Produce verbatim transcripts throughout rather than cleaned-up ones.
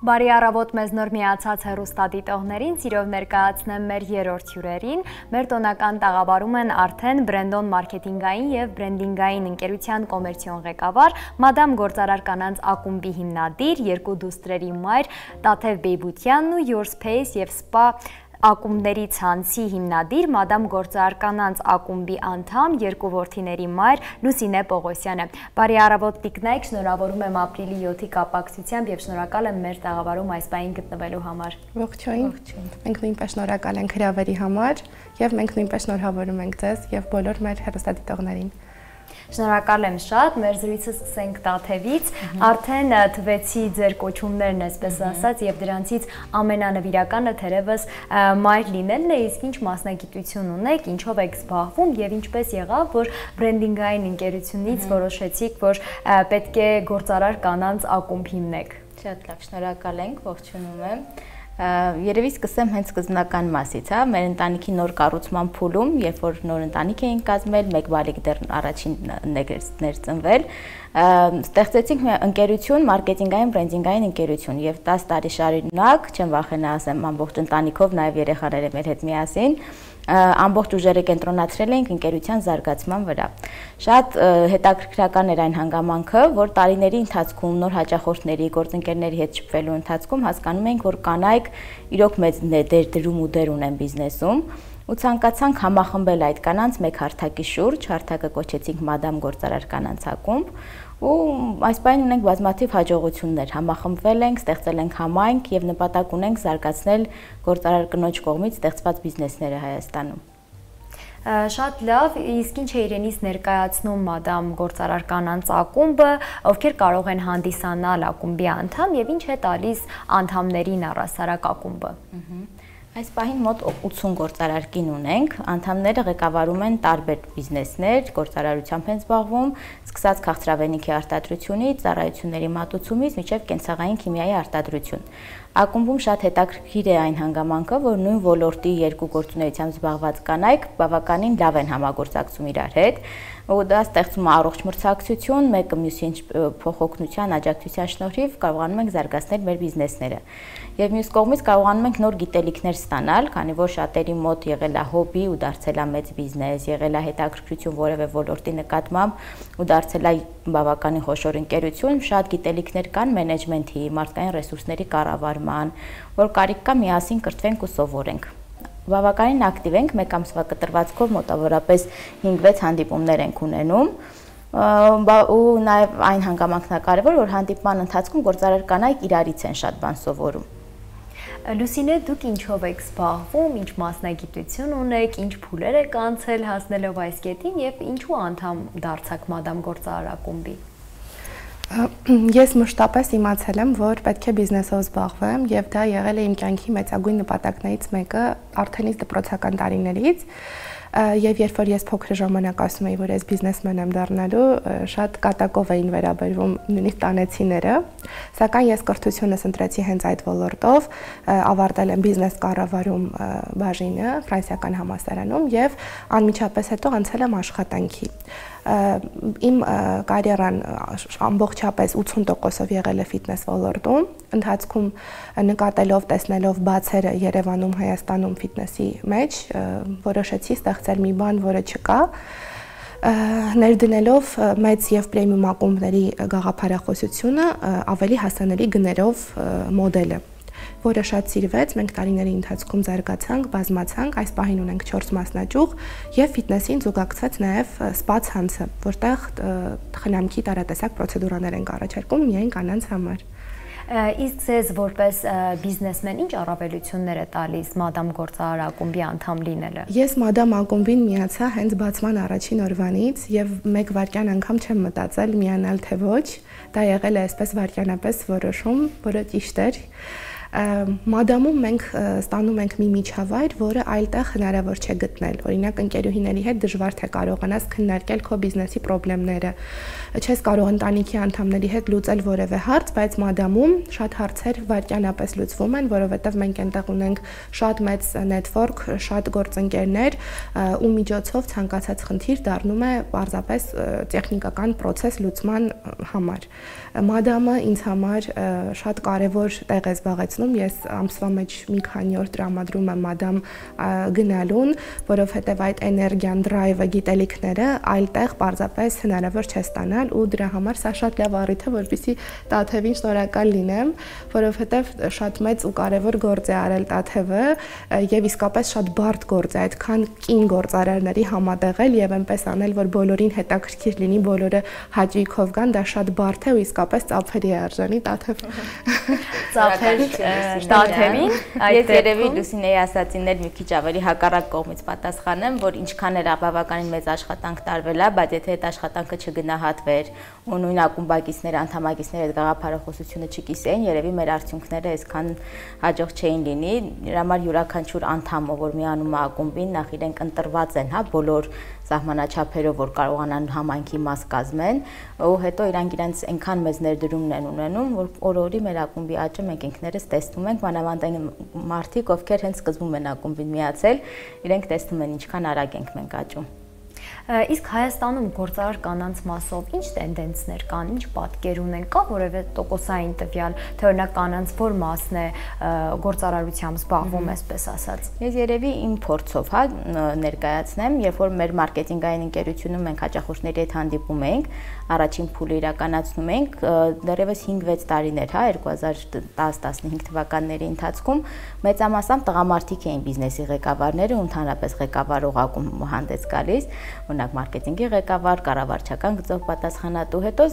Բարի առավոտ մեզ նոր միացած հեռուստադիտողներին, սիրով ներկայացնեմ մեր երրորդ հյուրերին։ Մեր տոնական տաղավարում են արդեն Brandon մարքեթինգային եւ բրենդինգային ընկերության կոմերցիոն ղեկավար, Madam Գործարար կանանց ակումբի հիմնադիր, երկու դուստրերի մայր Տաթև Բեյբությանն ու Your Space եւ Spa ակումբների ցանցի հիմնադիր, Madam Գործարար կանանց ակումբի անդամ, երկու որդիների մայր Լուսինե Պողոսյանը։ Բարի առավոտ տիկնայք, շնորհավորում եմ ապրիլի յոթի կապակցությամբ եւ շնորհակալ եմ մեր տաղավարում այս պահին գտնվելու համար։ Ողջույն։ Մենք նույնպես շնորհակալ ենք հրավերի համար եւ մենք նույնպես շնորհավորում ենք ձեզ եւ բոլոր մեր հեռուստադիտողներին։ Շնորհակալ եմ շատ, մեր զրույցը սկսենք Տաթևից, արդեն թվեցի ձեր կոչումներն այսպես ասած եւ դրանցից ամենանվիրականը թերևս մայր լինելն է, իսկ ինչ մասնագիտություն ունեք, ինչով եք զբաղվում եւ ինչպես եղավ, որ բրենդինգային ընկերությունից որոշեցիք, որ պետք է Գործարար կանանց ակումբ հիմնեք։ Շատ լավ, շնորհակալ ենք, ողջունում եմ։ Երևի սկսեմ հենց սկզբնական մասից, հա, մեր ընտանիքի նոր կառուցման փուլում, երբ որ նոր ընտանիք էին կազմել, մեկ բալիկ դեռ առաջին ներծնվել, ստեղծեցինք մի ընկերություն, մարքեթինգային, բրենդինգային ընկերություն եւ տասը տարի շարունակ, չեմ վախենա ասեմ, ամբողջ ընտանիքով, նաեւ երեխաները մեր հետ միասին ամբողջ ուժերը կենտրոնացրել էինք ընկերության զարգացման վրա։ Շատ հետաքրքրական էր այն հանգամանքը, որ տարիների ընթացքում նոր հաճախորդների, գործընկերների հետ շփվելու ընթացքում հասկանում էինք, որ կանայք իրոք մեծ դեր դրում ու դեր ունեն բիզնեսում, ու ցանկացանք համախմբել այդ կանանց մեկ հարթակի շուրջ, հարթակը կոչեցինք Madam Գործարար կանանց ակումբ, ու այս պահին ունենք բազմաթիվ հաջողություններ, համախմբվել ենք, ստեղծել ենք համայնք եւ նպատակ ունենք զարգացնել գործարար կնոջ կողմից ստեղծված բիզնեսները Հայաստանում։ Շատ լավ, իսկ ինչ է իրենից ներկայացնում Madam Գործարար կանանց ակումբը, ովքեր կարող են հանդիսանալ ակումբի անդամ եւ ինչ է տալիս անդամներին առասարակ ակումբը։ Այս պահին մոտ ութսուն գործարար կին ունենք, անդամները ղեկավարում են տարբեր բիզնեսներ, գործարարությամբ են զբաղվում, սկսած քաղցրավենիքի արտադրությունից, ծառայությունների մատուցումից մինչև կենցաղային քիմիայի արտադրություն։ Ակումբում շատ հետաքրքիր է այն հանգամանքը, որ նույն ոլորտի երկու գործունեությամբ զբաղված կանայք բավականին լավ են համագործակցում իրար հետ, ու դա ստեղծում է առողջ մրցակցություն, մեկը մյուսին փոխօգնության, աջակցության շնորհիվ կարողանում ենք զարգացնել մեր բիզնեսները։ Եվ մյուս կողմից կարողանում ենք նոր գիտելիքներ ստանալ, քանի որ շատերի մոտ եղել է հոբի ու դարձել է մեծ բիզնես, եղել է հետաքրքրություն որևէ ոլորտի նկատմամբ ու դարձել է բավականին խոշոր ընկերություն, շատ գիտելիքներ կան մենեջմենթի, մարդկային ռեսուրսների կառավարման, որ կարիք կա միասին կրթվենք ու սովորենք։ Բավականին ակտիվ ենք, մեկ ամսվա կտրվածքով մոտավորապես հինգ-վեց հանդիպումներ ենք ունենում, ու նաև այն հանգամանքն է կարևոր, որ հանդիպման ընթացքում գործարար կանայք իրարից են շատ բան սովորում։ Լուսինե, դուք ինչով եք զբաղվում, ինչ մասնագիտություն ունեք, ինչ փուլեր եք անցել հասնելով այս կետին եւ ինչու անդամ դարձաք Madam Գործարար ակումբի։ Ես մշտապես իմացել եմ, որ պետք է բիզնեսով զբաղվեմ եւ դա եղել է իմ կյանքի մեծագույն նպատակներից մեկը արդեն իսկ դպրոցական տարիներից։ Եվ երբ որ ես փոքր ժամանակ ասում էի, որ ես բիզնեսմեն եմ դառնալու, շատ կատակով էին վերաբերվում նույնիսկ տանեցիները, սակայն ես կրթությունս ընտրեցի հենց այդ ոլորտով, ավարտել եմ բիզնես կառավարում բաժինը Ֆրանսիական համալսարանում եւ անմիջապես հետո անցել եմ աշխատանքի։ Իմ կարիերան ամբողջապես ութսուն տոկոսով եղել է ֆիթնես ոլորտում, ընթացքում նկատելով, տեսնելով բացերը Երևանում, Հայաստանում ֆիթնեսի մեջ, որոշեցի ստեղծել մի բան, որը չկա, ներդնելով մեծ եւ պրեմիում ակումբների գաղափարախոսությունը ավելի հասանելի գներով մոդելը, որը շատ սիրվեց, մենք տարիների ընթացքում զարգացանք, բազմացանք, այս պահին ունենք չորս մասնաճյուղ եւ ֆիթնեսին զուգակցված նաեւ սպա ցանցը, որտեղ խնամքի տարատեսակ պրոցեդուրաներ ենք առաջարկում միայն կանանց համար։ Իսկ ձեզ որպես բիզնեսմեն ինչ առավելություններ է տալիս Madam Գործարար ակումբի անդամ լինելը։ Ես Madam ակումբին միացա հենց բացման առաջին օրվանից եւ մեկ վայրկյան անգամ չեմ մտածել միանալ թե ոչ, դա եղել է այսպես վայրկյանապես որոշում, որը ճիշտ էր։ Մադամում մենք ստանում ենք մի միջավայր, որը այլտեղ հնարավոր չէ գտնել։ Օրինակ ընկերուհիների հետ դժվար թե կարողանաս քննարկել քո բիզնեսի խնդիրները։ Չես կարող ընտանիքի անդամների հետ լուծել որևէ հարց, բայց մադամում շատ հարցեր վայրկյանապես լուծվում են, որովհետև մենք այնտեղ ունենք շատ մեծ նետվորք, շատ գործընկերներ, ու միջոցով ցանկացած խնդիր դառնում է պարզապես տեխնիկական process լուծման համար։ Մադամը ինձ համար շատ կարևոր տեղ է զբաղեցնում։ Ես ամսվա մեջ մի քանի օր տրամադրում եմ մադամ գնալուն, որովհետև այդ էներգիան, դրայվը, գիտելիքները այլտեղ պարզապես հնարավոր չէ ստանալ, ու դրա համար սա շատ լավ առիթ է, որպեսզի Տաթևին շնորհակալ լինեմ, որովհետև շատ մեծ ու կարևոր գործ է արել Տաթևը, եւ իսկապես շատ բարդ գործ է այդքան կին գործարարների համատեղել եւ այնպես անել, որ բոլորին հետաքրքիր լինի, բոլորը հաճույքով գան, դա շատ բարդ է ու իսկապես ծափերի է արժանի Տաթև։ Ծափեր Տաթևին, այդ երևի Լուսինեի ասածիներ մի քիչ ավելի հակառակ կողմից պատասխանեմ, որ ինչքան էլ բավականին մեծ աշխատանք տարվել է, բայց եթե այդ աշխատանքը չգնահատվեր ու նույն ակումբակիցները, անդամակիցները այդ գաղափարախոսությունը չկիսեին, երևի մեր արդյունքները այսքան հաջող չէին լինի։ Դրա համար յուրաքանչյուր անդամը, որ միանում է ակումբին, նախ իրենք ընտրված են, հա, բոլոր սահմանաչափերով, որ կարողանան համայնքի մաս կազմեն, ու հետո իրանք իրենց այնքան մեծ ներդրումն են ունենում, որ օր-օրի մեր ակումբի աճը մենք ինքներս տեսնում ենք, մանավանդ այն մարդիկ, ովքեր հենց սկզբում են ակումբին միացել, իրենք տեսնում են ինչքան արագ ենք մենք աճում։ Իսկ Հայաստանում գործարար կանանց մասով ինչ տենդենսներ կան, ինչ պատկեր ունեն, կա որևէ տոկոսային տվյալ, թե օրինակ կանանց որ մասն է գործարարությամբ զբաղվում, այսպես ասած։ Ես երևի իմ փորձով, հա, ներկայացնեմ, երբ որ մեր մարքեթինգային ընկերությունում մենք հաճախորդների հետ հանդիպում ենք, առաջին փուլը իրականացնում ենք, դեռևս հինգ-վեց տարիներ, հա, երկու հազար տասը տասնհինգ թվականների ընթացքում մեծամասամբ տղամարդիկ էին բիզնեսի ղեկավարները ու ընդհանրապես ղեկավարող ակումբ հանդես գալիս, օրինակ մարքեթինգի ղեկավար, կառավարչական գծով պատասխանատու, հետո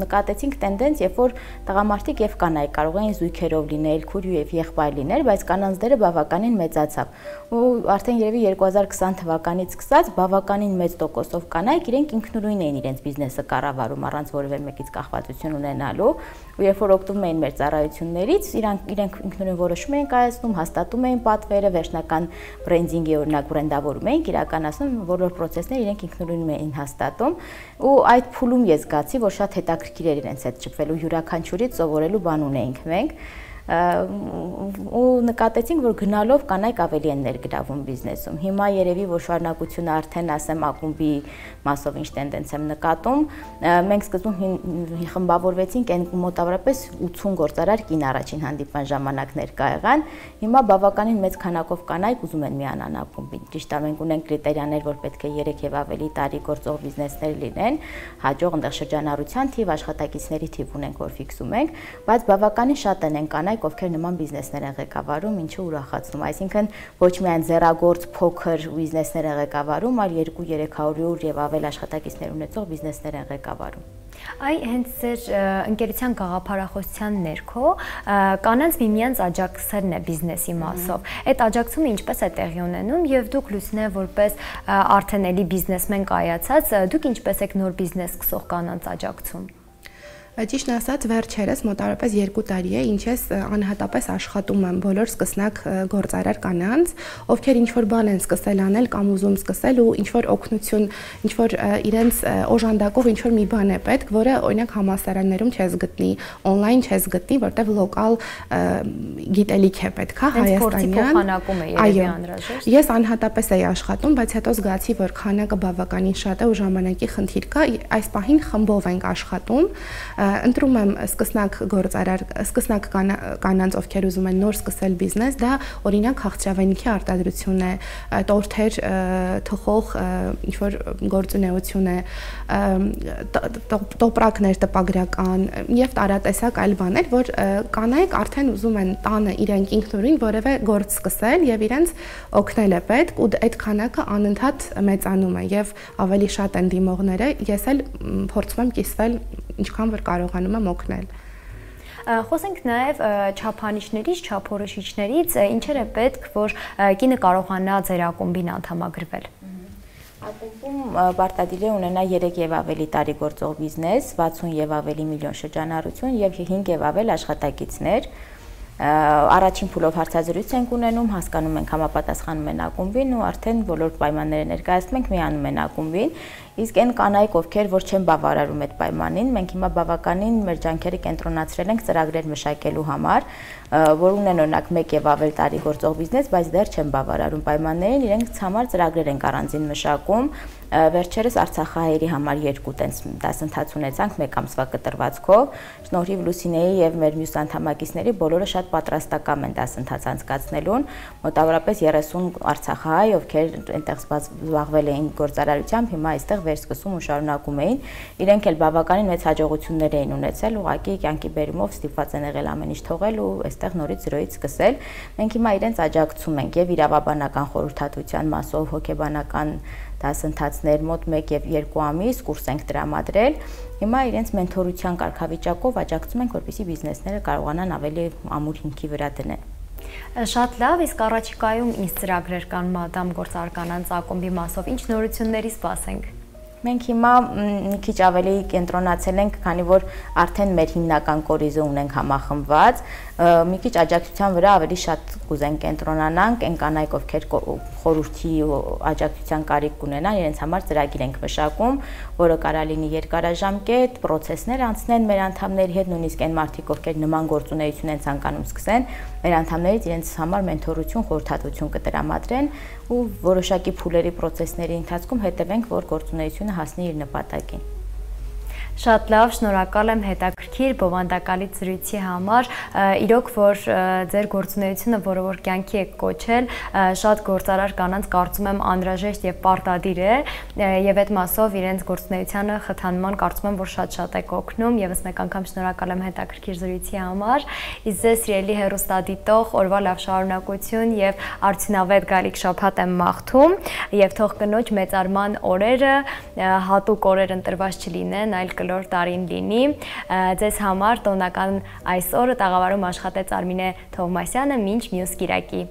նկատեցինք տենդենս, երբ որ տղամարդիկ եւ կանայք կարող էին զույգերով լինել, քույր եւ եղբայր լինել, բայց կանանց դերը բավականին մեծացավ։ Ու արդեն երևի երկու հազար քսան թվականից սկսած բավականին մեծ տոկոսով կանայք իրենք ինքնուրույն էին իրենց բիզնեսը կառավարում առանց որևէ մեկից կախվածություն ունենալու, ու երբ որ օգտվում էին մեր ծառայություններից, իրանք իրենք ինքնուրույն որոշում էին կայացնում, հաստատում էին պատվերը, վերջնական բրենդինգի օրինակ բրենդավորում էին իրականացնում, բոլոր process-ները իրենք ինքնուրույն էին հաստատում, ու այդ փուլում ես զգացի, որ շատ հետաքրքիր էր իրենց հետ շփվելու, յուրաքանչյուրից սովորելու բան ունեինք մենք, ու նկատեցինք, որ գնալով կանայք ավելի են ներգրավում բիզնեսում։ Հիմա երևի որ շարունակությունը արդեն ասեմ ակումբի մասով ինչ տենդենս եմ նկատում, մենք սկզբում խմբավորվեցինք այն մոտավորապես ութուն գործարար կին առաջին հանդիպման ժամանակ ներկա եղան, հիմա բավականին մեծ քանակով կանայք ուզում են միանան ակումբին։ Ճիշտ է, մենք ունենք կրիտերիաներ, որ պետք է երեք եւ ավելի տարի գործող բիզնեսներ լինեն, հաջող այնտեղ շրջանառության թիվ, աշխատակիցների թիվ ունենք, որ ֆիքսում ենք, բայց բավականին շատ են կանայք ովքեր նման բիզնեսներ են ղեկավարում, ինչը ուրախացնում, այսինքն ոչ միայն ձեռագործ փոքր բիզնեսներ են ղեկավարում, այլ երկու-երեք հարյուր եւ ավել աշխատակիցներ ունեցող բիզնեսներ են ղեկավարում։ Այ հենց ձեր ընկերության գաղափարախոսության ներքո կանանց միմյանց աջակցելն է բիզնեսի մասով։ Այդ աջակցումը ինչպես է տեղի ունենում եւ դուք Լուսինե որպես արդեն էլի բիզնեսմեն կայացած, դուք ինչպես եք նոր բիզնես սկսող կանանց աջակցում։ Ճիշտն ասած, վերջերս մոտավորապես երկու տարի է, ինչ ես անհատապես աշխատում եմ բոլոր սկսնակ գործարար կանանց, ովքեր ինչ-որ բան են սկսել անել կամ ուզում սկսել ու ինչ-որ օգնություն, ինչ-որ իրենց օժանդակով ինչ-որ մի բան է պետք, որը օրինակ համալսարաններում չես գտնի, on-line չես գտնի, որտեղ լոկալ գիտելիք է պետք, հա, հայաստանյան։ Այո, ես անհատապես էի աշխատում, բայց հետո զգացի, որ քանակը բավականին շատ է ու ժամանակի խնդիր կա, այս պահին խմբով ենք աշխատում, ընտրում եմ սկսնակ գործարար, սկսնակ կանանց, ովքեր ուզում են նոր սկսել բիզնես, դա օրինակ քաղցրավենիքի արտադրություն է, տորթեր թխող ինչ-որ գործունեություն է, տոպրակներ տպագրական եւ տարատեսակ այլ բաներ, որ կանայք արդեն ուզում են տանը իրենք ինքնուրույն որևէ գործ սկսել եւ իրենց օգնել է պետք, ու այդ քանակը անընդհատ մեծանում է եւ ավելի շատ են դիմողները, ես էլ փորձում եմ կիսվել ինչքան որ կարողանում եմ օգնել։ Խոսենք նաև չափանիշներից, չափորոշիչներից, ինչեր է պետք, որ կինը կարողանա ձեր ակումբին անդամագրվել։ Ակումբում պարտադիր է ունենա երեք եւ ավելի տարի գործող բիզնես, վաթսուն եւ ավելի միլիոն շրջանառություն եւ հինգ եւ ավել աշխատակիցներ։ Առաջին փուլով հարցազրույց ենք ունենում, հասկանում ենք համապատասխանում են ակումբին ու արդեն բոլոր պայմանները ներկայացնում ենք, միանում են ակումբին։ Իսկ այն կանայք, ովքեր որ չեն բավարարում այդ պայմանին, մենք հիմա բավականին մեր ջանքերը կենտրոնացրել ենք ծրագրեր մշակելու համար, որ ունեն օրինակ մեկ եւ ավել տարի գործող բիզնես, բայց դեռ չեն բավարարում պայմաններին, իրենք համար ծրագրեր են առանձին մշակում։ Վերջերս Արցախահայերի համար երկու տենց դասընթաց ունեցանք մեկ ամսվա կտրվածքով։ Շնորհիվ Լուսինեի եւ մեր մյուս անդամակիցների բոլորը շատ պատրաստական են դասընթաց անցկացնելուն։ Մոտավորապես երեսուն արցախահայ, ովքեր այնտեղ զբաղվել էին գործարարությամբ, հիմա այստեղ վերսկսում ու շարունակում էին։ Իրենք էլ բավականին մեծ հաջողություններ էին ունեցել, ուղղակի կյանքի բերումով ստիպված են եղել ամեն ինչ թողել ու այստեղ նորից զրոյից սկսել։ Մենք հիմա իրենց աջակցում ենք եւ իրավաբանական խորհրդատվության մասով, հոգեբանական դասընթացներ մոտ մեկ եւ երկու ամիս կուրս ենք տրամադրել։ Հիմա իրենց մենթորության կարգավիճակով աջակցում ենք, որպեսզի բիզնեսները կարողանան ավելի ամուր հիմքի վրա դնել։ Շատ լավ, իսկ առաջիկայում ինչ ծրագրեր կան Մադամ գործարկանանց ակումբի մասով, ինչ նորությունների սպասենք։ Մենք հիմա մի քիչ ավելի կենտրոնացել ենք, քանի որ արդեն մեր հիմնական կորիզը ունենք համախմբված, մի քիչ աջակցության վրա ավելի շատ կուզենք կենտրոնանանք, այն կանայք, ովքեր խորհրդի աջակցության կարիք կունենան, իրենց համար ծրագիր ենք մշակում, որը կարա լինի երկարաժամկետ, պրոցեսներ անցնեն մեր անդամների հետ, նույնիսկ այն մարդիկ, ովքեր նման գործունեություն են ցանկանում սկսեն, մեր անդամներից իրենց համար մենթորություն, խորհրդատվություն կտրամադրեն ու որոշակի փուլերի պրոցեսների ընթացքում հետևենք, որ գործունեությունը հասնի իր նպատակին։ Շատ լավ, շնորհակալ եմ հետաքրքիր բովանդակալից զրույցի համար։ Իրոք որ ձեր գործունեությունը, որը որ կյանքի եք կոչել, շատ գործարար կանանց կարծում եմ անհրաժեշտ եւ պարտադիր է, եւ այդ մասով իրենց գործունեությանը խթանման կարծում եմ որ շատ-շատ եք օգնում։ Եվս մեկ անգամ շնորհակալ եմ հետաքրքիր զրույցի համար։ Իսկ ձեզ սիրելի հեռուստադիտող, օրվա լավ շարունակություն եւ արդյունավետ գալիք շաբաթ եմ մաղթում եւ թող կնոջ մեծարման օրերը հատուկ օրեր ընտրված չլինեն, այլ կլոր տարին լինի։ Ձեզ համար տոնական այս օրը տաղավարում աշխատեց Արմինե Թովմասյանը, մինչ մյուս կիրակի։